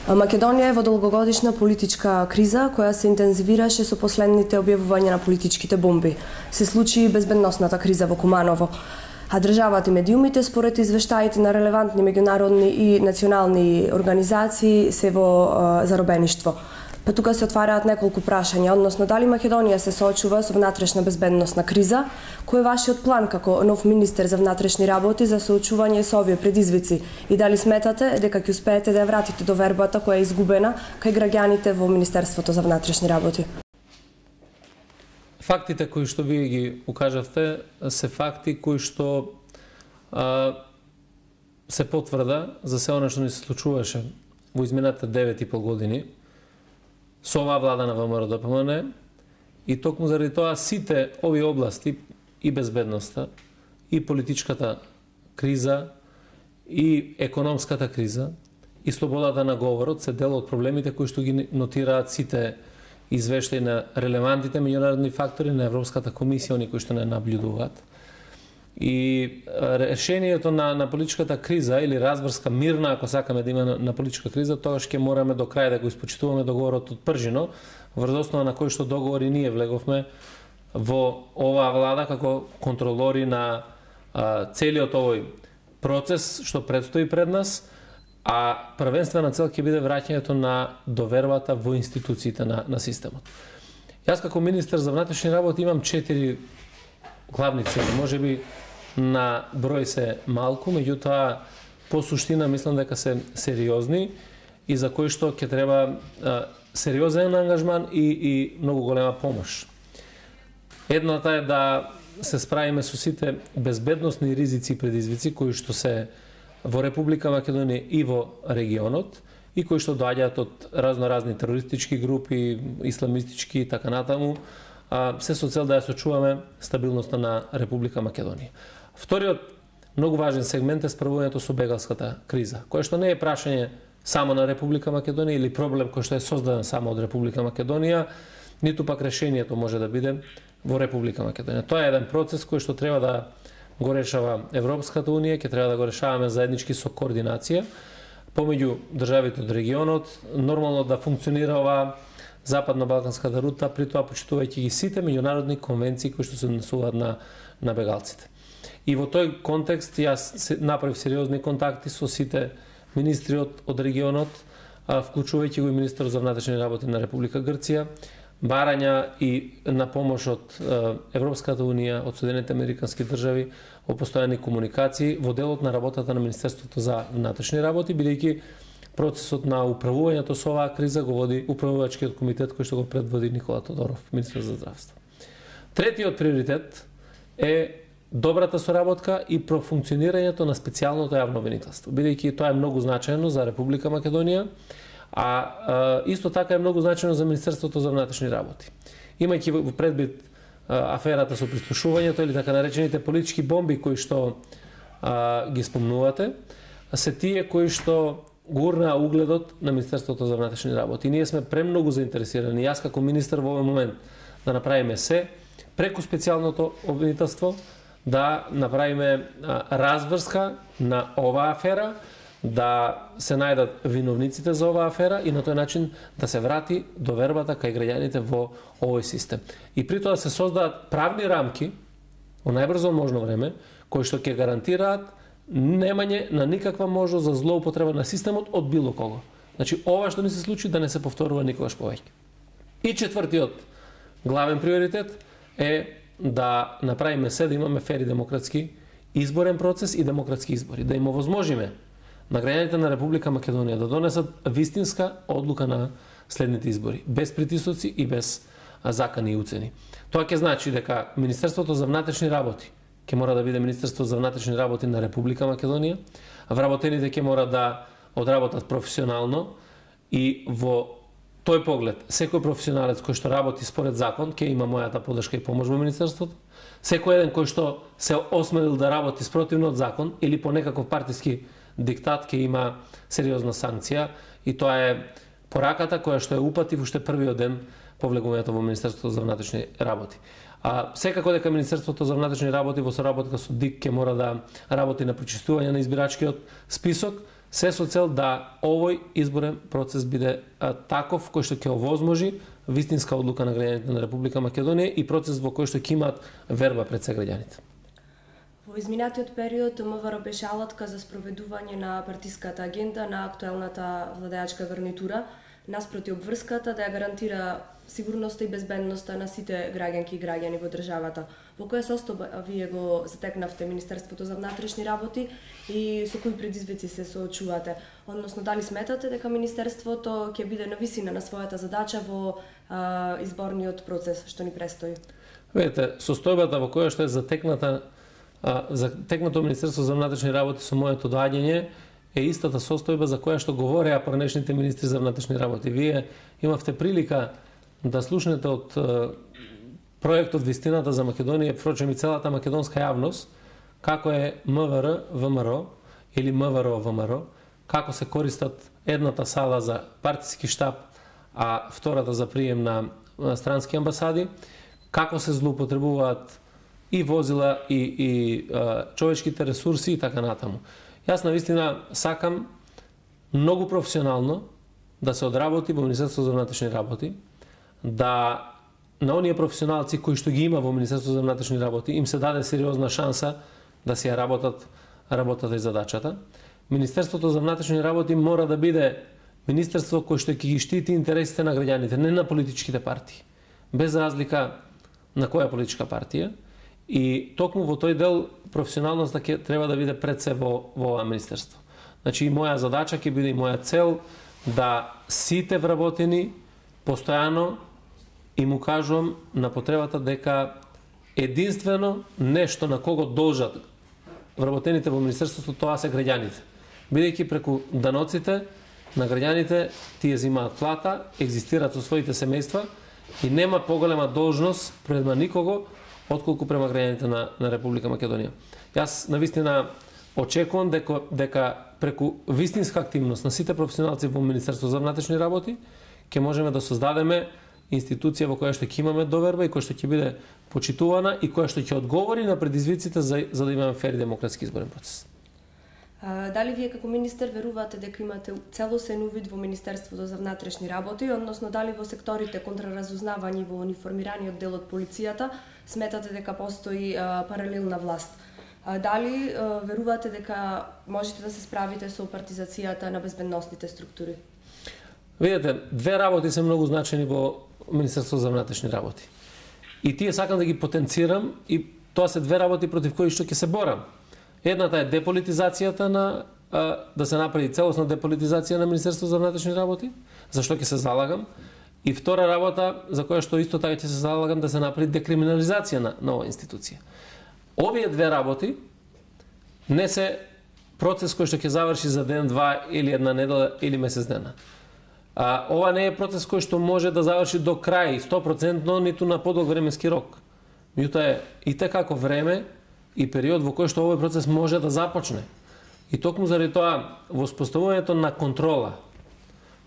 Македонија е во долгогодишна политичка криза која се интензивираше со последните објавувања на политичките бомби. Се случи и безбедносната криза во Куманово. А државата и медиумите, според извештаите на релевантни меѓународни и национални организации, се во заробеништво. Па тука се отвараат неколку прашања, односно дали Македонија се соочува со внатрешна безбедносна криза, кој е вашиот план како нов министер за внатрешни работи за соочување со овие предизвици и дали сметате дека ќе успеете да ја вратите довербата која е изгубена кај граѓаните во Министерството за внатрешни работи? Фактите кои што вие ги укажавте се факти кои што се потврда за се она што ни се случуваше во изминалите 9,5 години со оваа влада на ВМРО-ДПМН и токму заради тоа сите овие области и безбедноста, и политичката криза, и економската криза, и слободата на говорот се дел од проблемите кои што ги нотираат сите извештаи на релевантните меѓународни фактори на Европската комисија, они кои што не наблюдуваат. И решението на политичката криза или разврска мирна, ако сакаме да има на политичка криза, тогаш ќе мораме до крај да го испочитуваме договорот од Пржино, врз основа на кој што договори ние влеговме во оваа влада како контролори на целиот овој процес што предстои пред нас, а првенствена цел ќе биде враќањето на довербата во институциите на системот. Јас како министер за внатрешни работи имам 4 главни цели. Можеби на број се малку, меѓутоа по суштина мислам дека се сериозни и за кои што ќе треба сериозен ангажман и многу голема помош. Едната е да се справиме со сите безбедносни ризици и предизвици кои што се во Република Македонија и во регионот и кои што доаѓаат од разноразни терористички групи, исламистички и така натаму, се со цел да ја сочуваме стабилноста на Република Македонија. Вториот многу важен сегмент е справувањето со бегалската криза, која што не е прашање само на Република Македонија или проблем кој што е создаден само од Република Македонија, ниту пак решението може да биде во Република Македонија. Тоа е еден процес кој што треба да го решава Европската унија, ќе треба да го решаваме заеднички со координација помеѓу државите од регионот, нормално да функционира оваа западно-балканската рута, при тоа почитувајќи ги сите меѓународни конвенции кои што се однесуваат на бегалците. И во тој контекст јас направив сериозни контакти со сите министри од регионот, вклучувајќи го и министерот за внатрешни работи на Република Грција, барања и на помош од Европската унија, од Соединетите американски држави во постојани комуникации во делот на работата на Министерството за внатрешни работи, бидејќи процесот на управувањето со оваа криза го води управувачкиот комитет кој што го предводи Никола Тодоров, министер за здравство. Третиот приоритет е добрата соработка и профункционирањето на специјалното јавно обвинителство, бидејќи тоа е многу значајно за Република Македонија, а исто така е многу значајно за Министерството за внатрешни работи. Имајќи во предвид аферата со прислушувањето или така наречените политички бомби кои што ги спомнувате, се тие кои што гурнаа угледот на Министерството за внатрешни работи. Ние сме премногу заинтересирани, јас како министер во овој момент, да направиме се преку специјалното обвинителство, да направиме разврска на оваа афера, да се најдат виновниците за оваа афера и на тој начин да се врати довербата кај граѓаните во овој систем. И при тоа се создадат правни рамки во најбрзо можно време, кои што ќе гарантираат немање на никаква можност за злоупотреба на системот од било кого. Значи, ова што ни се случи да не се повторува никогаш повеќе. И четвртиот главен приоритет е да направиме се да имаме фер и демократски изборен процес и демократски избори, да им овозможиме на граѓаните на Република Македонија да донесат вистинска одлука на следните избори, без притисоци и без закани и уцени. Тоа ќе значи дека Министерството за внатрешни работи ќе мора да биде Министерство за внатрешни работи на Република Македонија, вработените ќе мора да одработат професионално и во тој поглед секој професионалец кој што работи според закон ќе има мојата поддршка и помош во Министерството. Секој еден кој што се осмелил да работи спротивно од закон или по некаков партиски диктат ќе има сериозна санкција и тоа е пораката која што ја упатив уште првиот ден по влегувањето во Министерството за внатрешни работи. Секако дека Министерството за внатрешни работи во соработка со ДИК ќе мора да работи на прочистување на избирачкиот список, се со цел да овој изборен процес биде таков кој што ќе овозможи вистинска одлука на граѓаните на Република Македонија и процес во кој што ќе имаат верба пред се граѓаните. Во изминатиот период МВР беше алатка за спроведување на партиската агенда на актуелната владеачка гарнитура, наспроти обврската да ја гарантира сигурноста и безбедноста на сите граѓанки и граѓани во државата. Во која состојба вие го затекнавте Министерството за внатрешни работи и со кои предизвици се соочувате? Односно, дали сметате дека Министерството ќе биде на висина на својата задача во изборниот процес што ни престои? Видете, состојбата во која што е затекнато Министерство за внатрешни работи со моето доаѓање е истата состојба за која што говореа поранешните министри за внатрешни работи. Вие имавте прилика да слушнете од проектот Вистината за Македонија, впрочем и целата македонска јавност, како е МВР ВМРО или МВР ВМРО, како се користат едната сала за партиски штаб, а втората за прием на странски амбасади, како се злоупотребуваат и возила и човечките ресурси и така натаму. Јас навистина сакам многу професионално да се одработи во Министерството за внатрешни работи, да на оние професионалци кои што ги има во Министерството за внатрешни работи им се даде сериозна шанса да си ја работата и задачата. Министерството за внатрешни работи мора да биде министерство кој што ќе ги штити интересите на граѓаните, не на политичките партии, без разлика на која политичка партија. И токму во тој дел професионалноста ќе треба да биде пред се во ова министерство. Значи и моја задача ќе биде и моја цел да сите вработени постојано им укажувам на потребата дека единствено нешто на кого должат вработените во министерството тоа се граѓаните. Бидејќи преку даноците на граѓаните тие земаат плата, екзистираат со своите семејства и нема поголема должност према никого отколку према граѓаните на Република Македонија. Јас навистина очекувам дека преку вистинска активност на сите професионалци во Министерството за внатрешни работи ќе можеме да создадеме институција во која што ќе имаме доверба и која што ќе биде почитувана и која што ќе одговори на предизвиците за да имаме фер и демократски изборен процес. Дали вие како министер верувате дека имате целосен увид во Министерството за внатрешни работи, односно дали во секторите контраразузнавање во униформираниот дел од полицијата сметате дека постои паралелна власт? Дали верувате дека можете да се справите со партизацијата на безбедносните структури? Видете, две работи се многу значени во Министерството за внатрешни работи. И тие сакам да ги потенцирам и тоа се две работи против кои што ќе се борам. Едната е деполитизацијата да се направи целосна деполитизација на Министерството за внатрешни работи, за што ќе се залагам. И втора работа за која што исто така ќе се залагам да се направи декриминализација на оваа институција. Овие две работи не се процес кој што ќе заврши за ден, два или една недела или месец дена. Ова не е процес кој што може да заврши до крај 100% ниту на подолг временски рок. Меѓутоа е и како време и период во кој што овој процес може да започне. И токму заради тоа воспоставувањето на контрола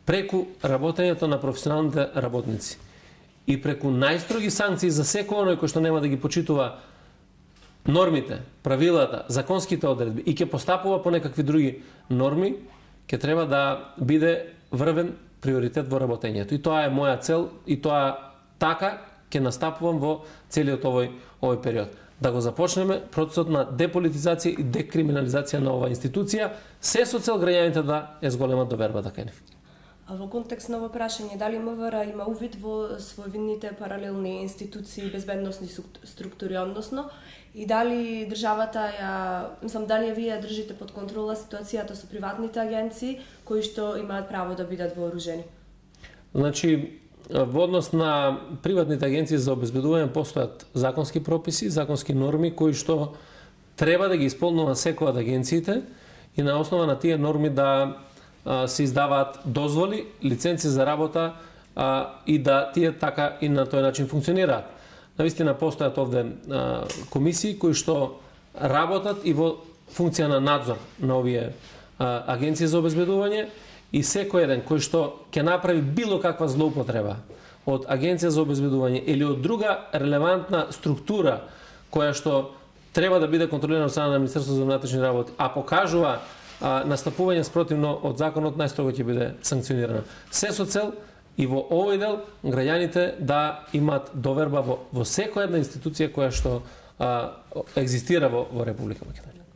преку работењето на професионалните работници и преку најстроги санкции за секој оној кој што нема да ги почитува нормите, правилата, законските одредби и ќе постапува по некакви други норми, ќе треба да биде врвен приоритет во работењето. И тоа е моја цел и тоа така ќе настапувам во целиот овој период. Да го започнеме процесот на деполитизација и декриминализација на оваа институција, се со цел граѓаните да ја зголемат довербата кај нив. Во контекст на ово прашање, дали МВР има увид во своевидните паралелни институции и безбедносни структури, односно, и дали државата дали вие ја држите под контрола ситуацијата со приватните агенции кои што имаат право да бидат вооружени? Значи, во однос на приватните агенции за обезбедување постојат законски прописи, законски норми кои што треба да ги исполнува секоја од агенциите и на основа на тие норми да се издаваат дозволи, лиценци за работа и да тие така и на тој начин функционираат. Навистина постојат овде комисии кои што работат и во функција на надзор на овие агенции за обезбедување и секој еден кој што ќе направи било каква злоупотреба од агенција за обезбедување или од друга релевантна структура која што треба да биде контролирана од страна на Министерството за внатрешни работи, а покажува настапување спротивно од законот најстрого ќе биде санкционирано. Се со цел и во овој дел граѓаните да имаат доверба во секоја една институција која што екзистира во Република Македонија.